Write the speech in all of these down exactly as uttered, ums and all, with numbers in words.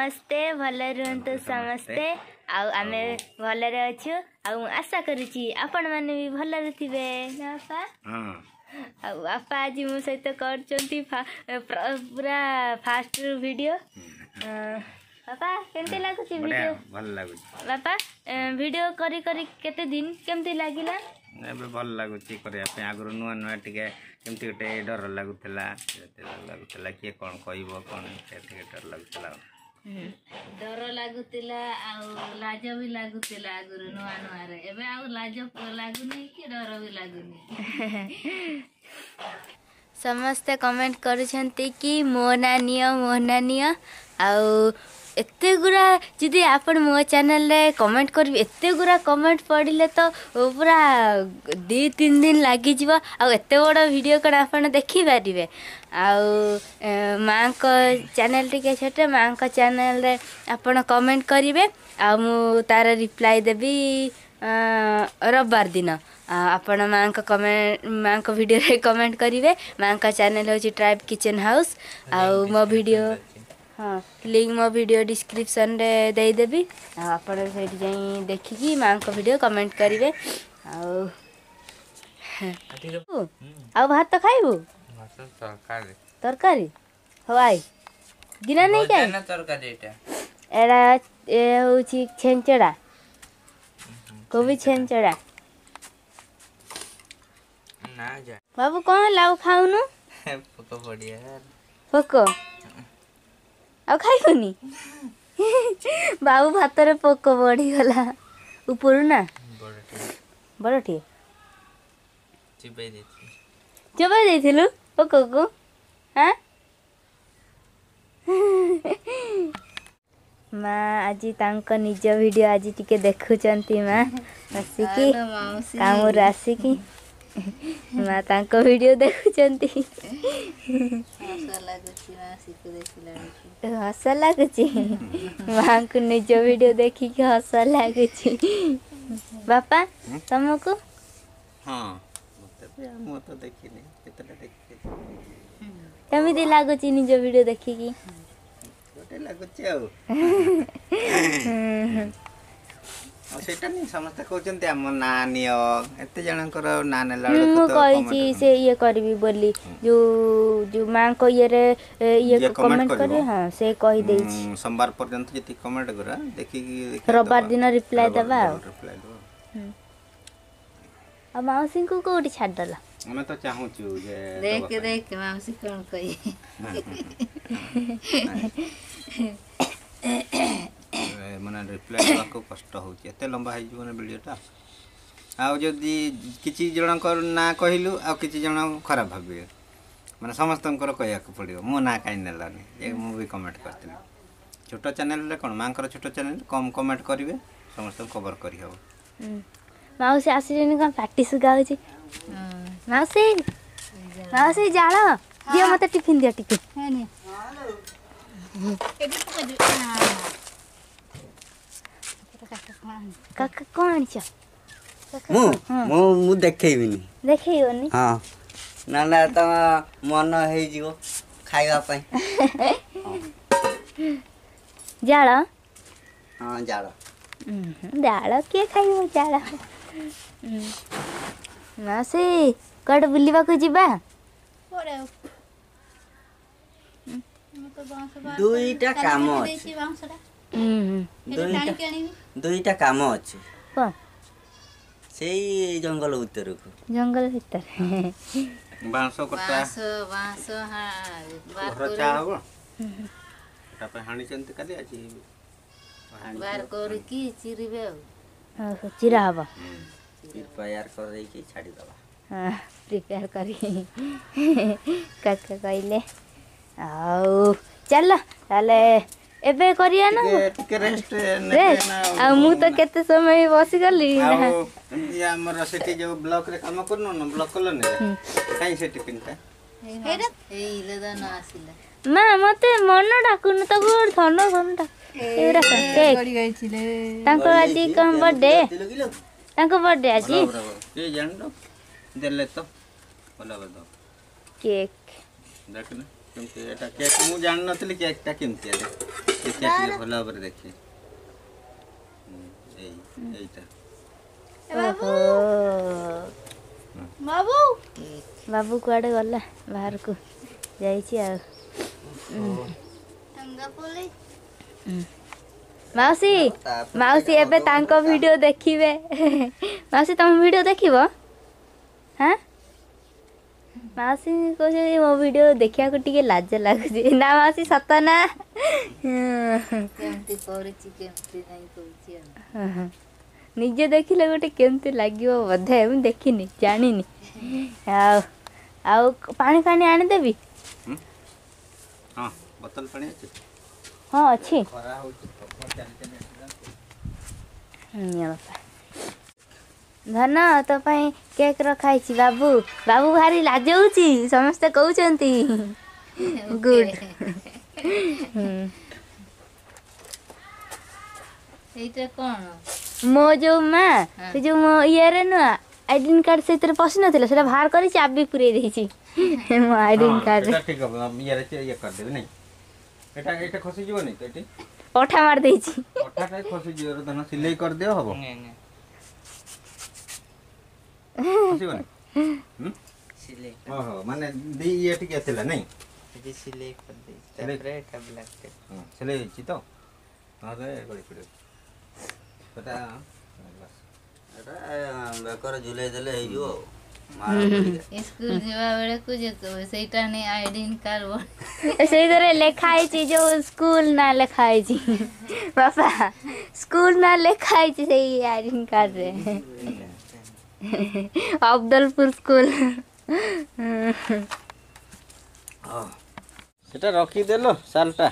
ନମସ୍ତେ, ଭଲରେ ରୁହନ୍ତୁ ସମସ୍ତେ। ଆଉ ଆମେ ଭଲରେ ଅଛୁ ଆଉ ମୁଁ ଆଶା କରୁଛି ଆପଣମାନେ ବି ଭଲରେ ଥିବେ ନା ବାପା? ଆଉ ବାପା ଆଜି ମୋ ସହିତ କରୁଛନ୍ତି ପୁରା ଫାଷ୍ଟ ଭିଡ଼ିଓ। ବାପା, କେମିତି ଲାଗୁଛି ଭିଡ଼ିଓ? ଭଲ ଲାଗୁଛି। ବାପା, ଭିଡ଼ିଓ କରି କରି କେତେ ଦିନ, କେମିତି ଲାଗିଲା? ଏବେ ଭଲ ଲାଗୁଛି କରିବା ପାଇଁ। ଆଗରୁ ନୂଆ ନୂଆ ଟିକେ କେମିତି ଗୋଟେ ଡର ଲାଗୁଥିଲା, ଲାଗୁଥିଲା କିଏ କ'ଣ କହିବ କ'ଣ, ଟିକେ ଡର ଲାଗୁଥିଲା। ଡର ଲାଗୁଥିଲା ଆଉ ଲାଜ ବି ଲାଗୁଥିଲା ଆଗରୁ ନୂଆ ନୂଆରେ। ଏବେ ଆଉ ଲାଜ ଲାଗୁନି କି ଡର ବି ଲାଗୁନି। ସମସ୍ତେ କମେଣ୍ଟ କରୁଛନ୍ତି କି ମୋ ନାଁ ନିଅ, ମୋ ନାଁ ନିଅ। ଆଉ ଏତେ ଗୁଡ଼ା ଯଦି ଆପଣ ମୋ ଚ୍ୟାନେଲରେ କମେଣ୍ଟ କରିବେ, ଏତେ ଗୁଡ଼ା କମେଣ୍ଟ ପଡ଼ିଲେ ତ ପୁରା ଦୁଇ ତିନି ଦିନ ଲାଗିଯିବ। ଆଉ ଏତେ ବଡ଼ ଭିଡ଼ିଓ କ'ଣ ଆପଣ ଦେଖିପାରିବେ? ଆଉ ମାଆଙ୍କ ଚ୍ୟାନେଲ ଟିକେ ଛୋଟ, ମାଆଙ୍କ ଚ୍ୟାନେଲରେ ଆପଣ କମେଣ୍ଟ କରିବେ ଆଉ ମୁଁ ତାର ରିପ୍ଲାଏ ଦେବି ରବିବାର ଦିନ। ଆପଣ ମାଆଙ୍କ କମେଣ୍ଟ, ମାଆଙ୍କ ଭିଡ଼ିଓରେ କମେଣ୍ଟ କରିବେ। ମାଆଙ୍କ ଚ୍ୟାନେଲ ହେଉଛି ଟ୍ରାଇବ୍ କିଚେନ୍ ହାଉସ୍। ଆଉ ମୋ ଭିଡ଼ିଓ, ହଁ, ଲିଙ୍କ୍ ମୋ ଭିଡ଼ିଓ ଡିସ୍କ୍ରିପ୍ସନ୍ରେ ଦେଇଦେବି ଆଉ ଆପଣ ସେଇଠି ଯାଇ ଦେଖିକି ମାଆଙ୍କ ଭିଡ଼ିଓ କମେଣ୍ଟ କରିବେ। ଆଉ ଆଉ ଭାତ ଖାଇବୁ? ତରକାରୀ ହଉ, I ଗିନା ନେଇକି I. ଏଇଟା ଏ ହେଉଛି ଛେଞ୍ଚଡ଼ା, କୋବି ଛେଞ୍ଚଡ଼ା। ବାବୁ, କ'ଣ ହେଲା? ଆଉ ଖାଉନୁ? ପୋକ, ଆଉ ଖାଇବୁନି ବାବୁ? ଭାତରେ ପୋକ ବଢ଼ିଗଲା ଉପରୁ ନା ବଡ଼ଟିଏ ଚୋବାଇ ଦେଇଥିଲୁ ପୋକକୁ? ହଁ ମା ଆଜି ତାଙ୍କ ନିଜ ଭିଡ଼ିଓ ଆଜି ଟିକେ ଦେଖୁଛନ୍ତି। ମା ଆସିକି କାମରୁ ଆସିକି ମା ତାଙ୍କ ଭିଡ଼ିଓ ଦେଖୁଛନ୍ତି। ହସ ଲାଗୁଛି ମାଙ୍କୁ, ନିଜ ଭିଡ଼ିଓ ଦେଖିକି ହସ ଲାଗୁଛି। ବାପା, ତମକୁ? ମୁଁ ତ ଦେଖିନି, କେତେଟା ଦେଖିଛି। କେମିତି ଲାଗୁଛି ନିଜ ଭିଡ଼ିଓ ଦେଖିକି? ଗୋଟେ ଲାଗୁଛି ଆଉ ଆଉ ସେଇଟା ନି, ସମସ୍ତେ କହୁଛନ୍ତି ଆମ ନାଁ ନିଅ। ଏତେ ଜଣଙ୍କର ନାଁ ନେଲା ବେଳକୁ ମୁଁ କହିଛି ସେ ଇଏ କରିବି ବୋଲି, ଯୋଉ ଯୋଉ ମାଙ୍କ ଇଏରେ ଇଏ କମେଣ୍ଟ କରିବେ। ହଁ, ସେ କହିଦେଇଛି ସୋମବାର ପର୍ଯ୍ୟନ୍ତ ଯେତିକି କମେଣ୍ଟ କର ଦେଖିକି ରବିବାର ଦିନ ରିପ୍ଲାଏ ଦେବା। ଆଉ ଆଉ ମାଉସୀଙ୍କୁ କୋଉଠି ଛାଡ଼ିଦେଲ? ଆମେ ତ ଚାହୁଁଛୁ ଯେ ଦେଖ ଦେଖ ମାଉସୀ କ'ଣ କହିବେ। ମାନେ ରିପ୍ଲାଏ ଦେବାକୁ କଷ୍ଟ ହେଉଛି, ଏତେ ଲମ୍ବା ହେଇଯିବ ନା ଭିଡ଼ିଓଟା। ଆଉ ଯଦି କିଛି ଜଣଙ୍କର ନାଁ କହିଲୁ, ଆଉ କିଛି ଜଣ ଖରାପ ଭାବିବେ। ମାନେ ସମସ୍ତଙ୍କର କହିବାକୁ ପଡ଼ିବ, ମୋ ନାଁ କାହିଁ ନେଲାନି ଯେ, ମୁଁ ବି କମେଣ୍ଟ କରିଥିଲି। ଛୋଟ ଚ୍ୟାନେଲରେ କ'ଣ, ମାଙ୍କର ଛୋଟ ଚ୍ୟାନେଲ, କମ୍ କମେଣ୍ଟ କରିବେ, ସମସ୍ତଙ୍କୁ କଭର କରିହେବ। ମାଉସୀ ଆସିଲେନି, କ'ଣ ପାଟି ଶୁଖାଉଛି? ମାଉସୀ, ମାଉସୀ, ଜାଳ ଦିଅ ମତେ, ଟିଫିନ୍ ଦିଅ ଟିକେ। କାକା, କ'ଣ ଆଣିଛ? ମୁଁ ମୁଁ ମୁଁ ଦେଖେଇବିନି। ଦେଖେଇବନି? ହଁ, ନହେଲେ ତମ ମନ ହେଇଯିବ ଖାଇବା ପାଇଁ। ଜାଳ? ହଁ, ଜାଳ। ଜାଳ କିଏ ଖାଇବ ଜାଳ? ମାଉସୀ, କୁଆଡ଼େ ବୁଲିବାକୁ ଯିବା? ଦୁଇଟା କାମ ଅଛି, ଦୁଇଟା କାମ ଅଛି ସେଇ ଜଙ୍ଗଲ ଭିତରକୁ। ଜଙ୍ଗଲ ଭିତରେ ବାଉଁଶ କଟା, ବାଉଁଶ ଘର ଚା ହବ, ସେଟା ପାଇଁ ହାଣିଛନ୍ତି କାଲି, ଆଜି ବାର କରିକି ଚିରିବେ। ଆଉ ଚିରା ହବ, ପ୍ରିପେୟାର କରିଦେଇକି ଛାଡ଼ିଦେବା। ହଁ, ପ୍ରିପେୟାର କରି କାକା କହିଲେ। ଆଉ ଚାଲ ତାହେଲେ ଏବେ କରିବା ନା ଟିକେ ରେଷ୍ଟ? ଆଉ ମୁଁ ତ କେତେ ସମୟ ବସିଗଲି। ଆଉ ଆମର ସେଠି ଯୋଉ ବ୍ଲକରେ କାମ କରୁନୁ ନା, ବ୍ଲକ କଲୋନୀରେ, କାହିଁ ସେ ଟିଫିନଟା? ମା, ମତେ ମନ ଡାକୁନୁ ତାକୁ, ଧନ ଧନ ଡାକୁ। ଏଗୁଡ଼ା କେକ୍ ତାଙ୍କର, ଆଜି କ'ଣ ବର୍ଥଡେ? ତାଙ୍କ ବର୍ଥଡେ ଆଜି। ଦେଲେ ତ ଭଲ କେକ୍। ଦେଖ। କେମିତି ଏଟା କେକ୍ ମୁଁ ଜାଣିନଥିଲି କେକ୍ଟା କେମିତି ଦେଖିଆ ଟିକେ ଭଲ ଭାବରେ ଦେଖି ଏଇ ଏଇଟା ବାବୁ ବାବୁ ବାବୁ କୁଆଡ଼େ ଗଲା ବାହାରକୁ ଯାଇଛି ଆଉ ମାଉସୀ ମାଉସୀ ଏବେ ତାଙ୍କ ଭିଡ଼ିଓ ଦେଖିବେ ମାଉସୀ ତମ ଭିଡ଼ିଓ ଦେଖିବ ହଁ ମାଉସୀ କହୁଛନ୍ତି ମୋ ଭିଡ଼ିଓ ଦେଖିବାକୁ ଟିକେ ଲାଜ ଲାଗୁଛି ନା ମାଉସୀ ସତ ନା କେମିତି କରୁଛି କେମିତି ନାଇଁ କହୁଛି ଆଉ ନିଜେ ଦେଖିଲେ ଗୋଟେ କେମିତି ଲାଗିବ ବୋଧେ ମୁଁ ଦେଖିନି ଜାଣିନି ଆଉ ଆଉ ପାଣି ଫାଣି ଆଣିଦେବି ହଁ ବୋତଲ ପାଣି ଅଛି ହଁ ଅଛି ଖରା ହଉଛି ଚାଲି ଚାଲି ନିଅ ବାପା ଧନ ତୋ ପାଇଁ କେକ୍ ରଖା ହେଇଛି ବାବୁ ବାବୁ ଭାରି ଲାଜଉଛି ସମସ୍ତେ କହୁଛନ୍ତି ଗୁଡ୍ ଏଇଟା କଣ ମୋ ଯୋଉ ମା ସେ ଯୋଉ ମୋ ଇଏରେ ନୁହଁ ଆଇଡେଣ୍ଟି କାର୍ଡ ସେଥିରେ ପଶି ନଥିଲା ସେଟା ବାହାର କରି ଚାବି ପୁରେଇ ଦେଇଛି ମୋ ଆଇଡେଣ୍ଟି କାର୍ଡରେ ଠିକ ହବ ଇଏରେ ଇଏ କରିଦେବି ନାଇଁ ଏଟା ଏଟା ଖସିଯିବନି ତ ଏଠି ଅଠା ମାରି ଦେଇଛି ଅଠାଟା ଖସିଯିବ ଧନ ସିଲେଇ କରିଦିଅ ହବ ଖସିବନି ସିଲେଇ ଓହୋ ମାନେ ଦି ଇଏ ଟିକେ ଥିଲା ନାଇଁ ଏଠି ସିଲେଇ କରିଦେଇଛି ତାପରେ ଏଟା ବ୍ଲାକ୍ ଟେପ୍ ସିଲେଇ ହେଇଛି ତ ନହେଲେ ଗଳି ପଡ଼ିବ ସେଟା ଏଟା ବେକରେ ଝୁଲେଇ ଦେଲେ ହେଇଯିବ ଆଉ ସ୍କୁଲ ଯିବା ବେଳକୁ ସେଇଟା ନେଇ ଆଇଡେଣ୍ଟି କାର୍ଡ ସେଇଥିରେ ଲେଖା ହେଇଛି ଯୋଉ ସ୍କୁଲ ନାଁ ଲେଖା ହେଇଛି ବାପା ସ୍କୁଲ ନାଁ ଲେଖା ହେଇଛି ସେଇ ଆଇଡେଣ୍ଟି କାର୍ଡରେ ଅବଦଲପୁର ସ୍କୁଲ ସେଟା ରଖିଦେଲ ସାଲଟା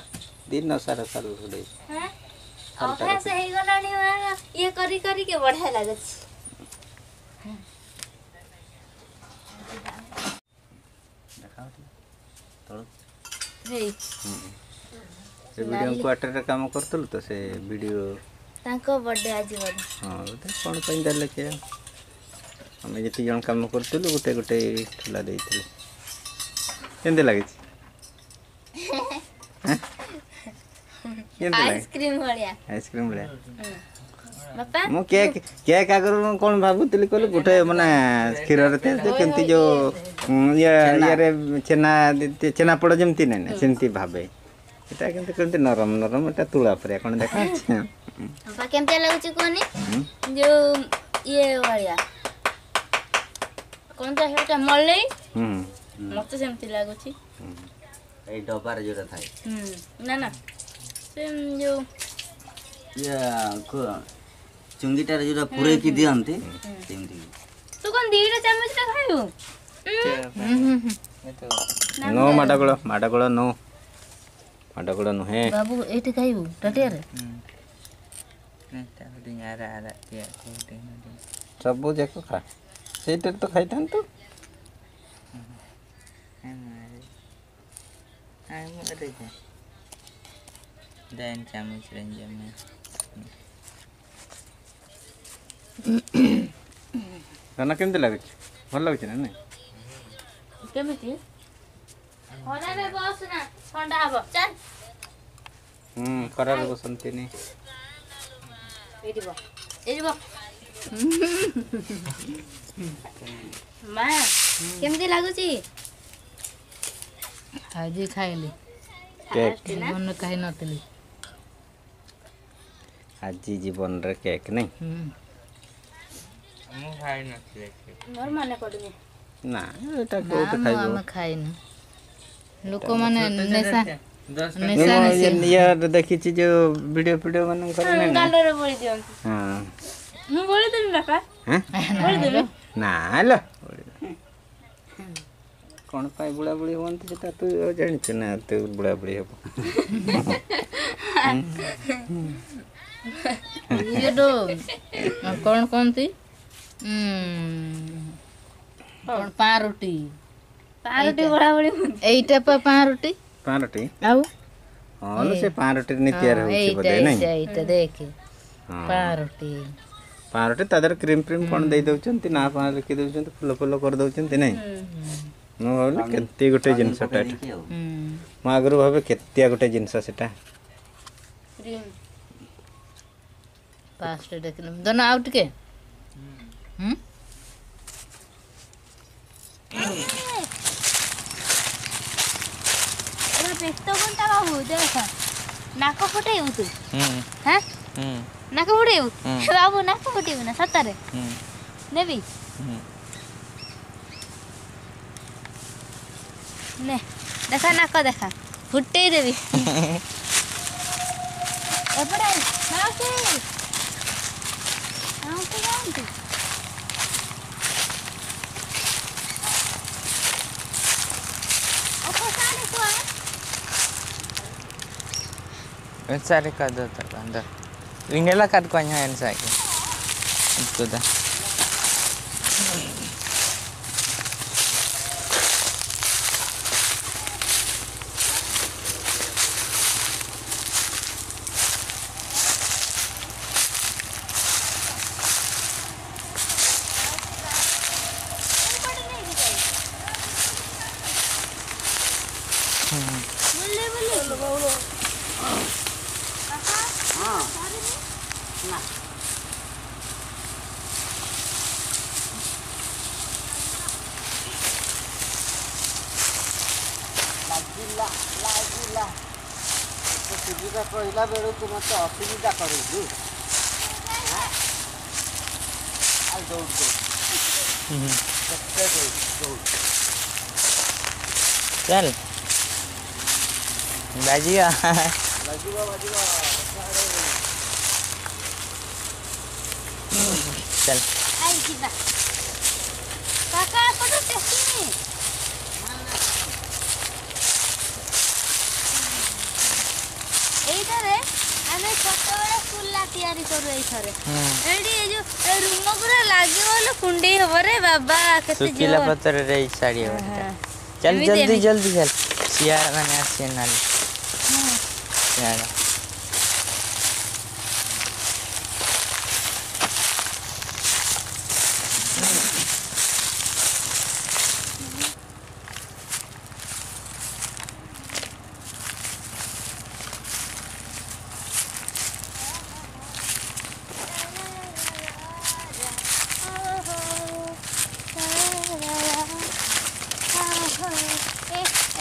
ଦିନ ସାରା ସାଲ ଘୋଡ଼େଇ ଅଭ୍ୟାସ ହେଇଗଲାଣି ଇଏ କରି କରିକି ବଢିଆ ଲାଗୁଛି ସେ ବିଡ଼ିଓ କ୍ୱାର୍ଟରରେ କାମ କରୁଥିଲୁ ତ ସେ ବିଡ଼ିଓ ତାଙ୍କ ବର୍ଥଡେ ଆଜି ବୋଧେ ହଁ ବୋଧେ କ'ଣ ପାଇଁ ଦେଲେ କିଏ ଆମେ ଯେତିକି ଜଣ କାମ କରୁଥିଲୁ ଗୋଟେ ଗୋଟେ ଠୁଲା ଦେଇଥିଲେ କେମିତି ଲାଗୁଛି କେମିତି ଲାଗେ ଆଇସ୍କ୍ରିମ ଭଳିଆ ଆଇସ୍କ୍ରିମ ଭଳିଆ ବାପା ମୁଁ କେକ୍ କେକ୍ ଆଗରୁ ମୁଁ କ'ଣ ଭାବୁଥିଲି କହିଲୁ ଗୋଟେ ମାନେ କ୍ଷୀରରେ ତିଆରି କେମିତି ଯୋଉ ଇଏ ଇଏରେ ଛେନା ଛେନାପୋଡ଼ ଯେମିତି ନାଇଁ ନା ସେମିତି ଭାବେ ଏଟା କିନ୍ତୁ କେମିତି ନରମ ନରମ ଏଟା ତୁଳା ପରିଆ କ'ଣ ଦେଖାଯାଉଛି ବାପା କେମିତି ଲାଗୁଛି କୁହନି ଯୋଉ ଇଏ ଭଳିଆ କ'ଣ ତ ସେଇଟା ମଲେଇ ମତେ ସେମିତି ଲାଗୁଛି ଏଇ ଡବାରେ ଯୋଉଟା ଥାଏ ନା ନା ସେ ଯୋଉ ଇଏ ଚୁଙ୍ଗିଟାରେ ଯୋଉଟା ପୁରେଇକି ଦିଅନ୍ତି ସେମିତି ତୁ କ'ଣ ଦିଟା ଚାମଚଟା ଖାଇବୁ ନୋ ମାଡ଼ଗୋଳ ମାଡ଼ଗୋଳ ନୋ ମାଡ଼ଗୋଳ ନୁହେଁ ବାବୁ ଏଇଠି ଖାଇବୁ ତାଟିଆରେ ସବୁ ଯାକ ଖା ସେଇଟାରେ ତ ଖାଇଥାନ୍ତୁ ଧନ କେମିତି ଲାଗୁଛି ଭଲ ଲାଗୁଛି ନା ନାଇଁ କେମିତି ଖରାରେ ବସ ନା ଥଣ୍ଡା ହବ ଚାଲ ହୁଁ ଖରାରେ ବସନ୍ତିନି ଏଇଠି ବ ଏଇଠି ବ ମା କେମିତି ଲାଗୁଛି ଆଜି ଖାଇଲି କେକ୍ ଜୀବନରେ ଖାଇ ନଥିଲି ଆଜି ଜୀବନରେ କେକ୍ ନାଇଁ ମୁଁ ଖାଇ ନଥିଲି ମୋର ମନେ ପଡୁନି ନା ଏଟା କୋଉଠି ଖାଇବ ଆମେ ଖାଇନୁ ଲୋକମାନେ ନେଶା ନେଶା ଇଏ ଦେଖିଛି ଯୋଉ ଭିଡିଓ ଫିଡିଓ ମାନଙ୍କର ନାଇଁ ନା ଗାଲରେ ବୋଳି ଦିଅନ୍ତି ହଁ ମୁଁ ବୋଳିଦେବି ବାପା ବୋଳିଦେବି ନା ଲୋ କ'ଣ ପାଇଁ ବୁଢ଼ାବୁଢ଼ୀ ହୁଅନ୍ତି ସେଟା ତୁ ଜାଣିଛୁ ନା ତୁ ବୁଢ଼ାବୁଢ଼ୀ ହବ ଇଏ ତ କ'ଣ କହନ୍ତି କ'ଣ ପାଉଁରୁଟି ପାଉଁରୁଟି ବୁଢ଼ାବୁଢ଼ୀ ହୁଅନ୍ତି ଏଇଟା ପା ପାଉଁରୁଟି ପାଉଁରୁଟି ଆଉ ହଁ ଲୋ ସେ ପାଉଁରୁଟିରେ ତିଆରି ହେଉଛି ବୋଧେ ନାଇଁ ଏଇଟା ଏଇଟା ଦେଖେ ପାଉଁରୁଟି ପାଉଁରୁଟି ତା ଦେହରେ କ୍ରିମ୍ ଫ୍ରିମ୍ କ'ଣ ଦେଇ ଦେଉଛନ୍ତି ନା ଫାଁ ଲେଖି ଦେଉଛନ୍ତି ଫୁଲ ଫୁଲ କରିଦେଉଛନ୍ତି ନାଇଁ ମୁଁ ଭାବିଲି କେତେ ଗୋଟେ ଜିନିଷଟା ଏଟା। ମୁଁ ଆଗରୁ ଭାବେ କେତିଆ ଗୋଟେ ଜିନିଷ ସେଟା। ଫାଷ୍ଟ ଦେଖିଲୁ ଧନ ଆଉ ଟିକେ। ହୁଁ ବ୍ୟସ୍ତ କୋନଟା ବାବୁ, ଦେଖ ନାକ ଫୁଟେଇବୁ ତୁ? ହଁ, ନାକ ଫୁଟେଇବୁ ବାବୁ? ନାକ ଫୁଟେଇବୁ ନା ସତରେ? ନେବି, ନେ ଦେଖା, ନାକ ଦେଖା, ଫୁଟେଇ ଦେବି। ଏପଟେ ମାଉସୀ, ମାଉସୀ ଯାଆନ୍ତୁ। Cari kado terkandar. Inilah kad kuanya yang saya. Itu dah. ବୁଲି ବୁଲି ଲାଗିଲା ଲାଗିଲା, ସୁବିଧା କହିଲା ବେଳକୁ ମତେ ଅସୁବିଧା କରୁଛୁ। ଆଉ ଦୌଡ଼ ଦୌଡ଼, କେତେ ଦୌଡ଼ ଦୌଡ଼। ଚାଲ, ବାଜିବ ବାଜିବ ବାଜିବ। ଚାଲ I ଯିବା କାକା, ଏପଟେ ଟେକିନି। ଏଇଟାରେ ଆମେ ଛୋଟବେଳେ କୁଲା ତିଆରି କରୁ ଏଇଥରେ। ଏଇଠି ଏ ଯୋଉ ରୁମ ପୁରା ଲାଗିବ ବୋଲେ କୁଣ୍ଡେଇ ହବ ରେ ବାବା, କେତେ ଶୁଖିଲା ପତ୍ରରେ ଏଇ ଶାଢ଼ୀ ହବ। ଚାଲ ଜଲ୍ଦି ଜଲ୍ଦି ଚାଲ, ଶିଆଳ ମାନେ ଆସିବେ ନହେଲେ। ଶିଆଳ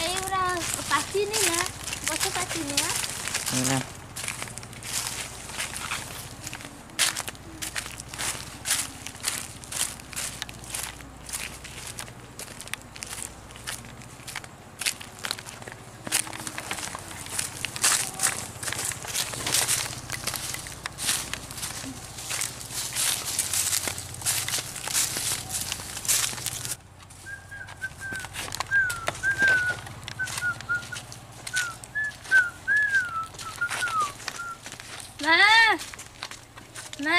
ଏଇଗୁଡ଼ା ପାଚିନି ନା? ଗଛ ପାଚିନି ନା। ମା, ମା,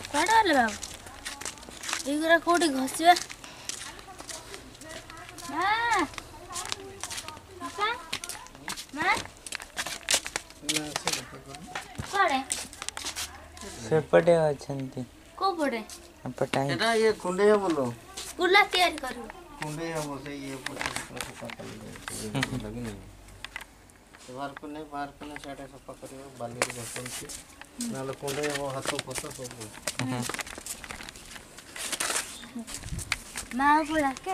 କୁଆଡ଼େ ଗଲେ ବାବୁ? ଏଇଗୁଡ଼ା କୋଉଠି ଘଷିବା? ମା, ବାପା, ମା କୁଆଡ଼େ? ସେପଟେ ଅଛନ୍ତି। କୋଉ ପଟେ? ଏପଟେ। ଏଟା ଇଏ କୁଣ୍ଡେଇ ହବ ଲୋ। କୁଲା ତିଆରି କରିବ, କୁଣ୍ଡେଇ ହବ। ସେ ଇଏ ସଫା କଲେ ଲାଗିନି, ବାହାର କଲେ, ବାହାର କଲେ ସିଆଡ଼େ ସଫା କରିବ। ବାଲିରେ ଘଷନ୍ତି, ନହେଲେ କୁଣ୍ଡେଇ ହବ ହାତ ଫାତ ସବୁ। ମାକୁ ଡାକେ।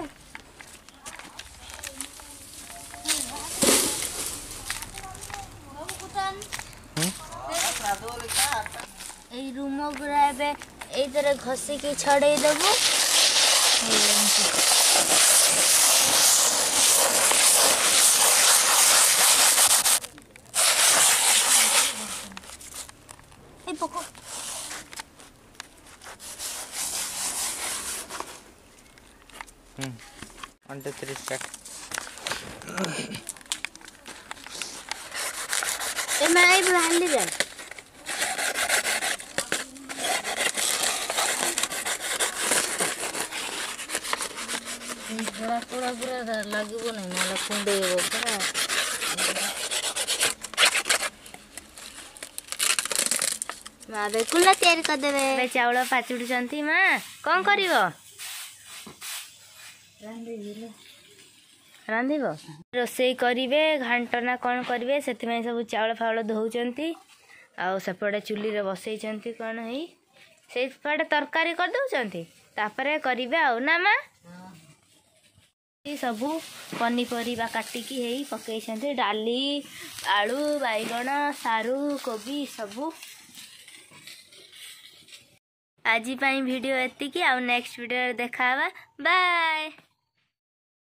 ଏଇ ରୁମ ଗୁଡ଼ା ଏବେ ଏଇଥିରେ ଘଷିକି ଛଡ଼େଇ ଦେବୁ। ଏଇ ପୋକ। One two three start. ଏ ମା, ଏଇ ବାଲିରେ ଧଳା କଳା ପୁରା ଲାଗିବ ନାହିଁ, ନହେଲେ କୁଣ୍ଡେଇ ହବ ପୁରା। ମା ଏବେ କୁଲା ତିଆରି କରିଦେବେ। ଚାଉଳ ପାଚୁଡୁଛନ୍ତି ମା। କଣ କରିବ? ରାନ୍ଧିବ? ରୋଷେଇ କରିବେ, ଘାଣ୍ଟ ନା କ'ଣ କରିବେ, ସେଥିପାଇଁ ସବୁ ଚାଉଳ ଫାଉଳ ଧୋଉଛନ୍ତି। ଆଉ ସେପଟେ ଚୁଲିରେ ବସେଇଛନ୍ତି କ'ଣ ହେଇ, ସେଇପଟେ ତରକାରୀ କରିଦେଉଛନ୍ତି, ତାପରେ କରିବେ ଆଉ ନା ମା? ସବୁ ପନିପରିବା କାଟିକି ହେଇ ପକେଇଛନ୍ତି, ଡାଲି, ଆଳୁ, ବାଇଗଣ, ସାରୁ, କୋବି ସବୁ। ଆଜି ପାଇଁ ଭିଡ଼ିଓ ଏତିକି, ଆଉ ନେକ୍ସଟ ଭିଡ଼ିଓରେ ଦେଖା ହେବା। ବାଏ।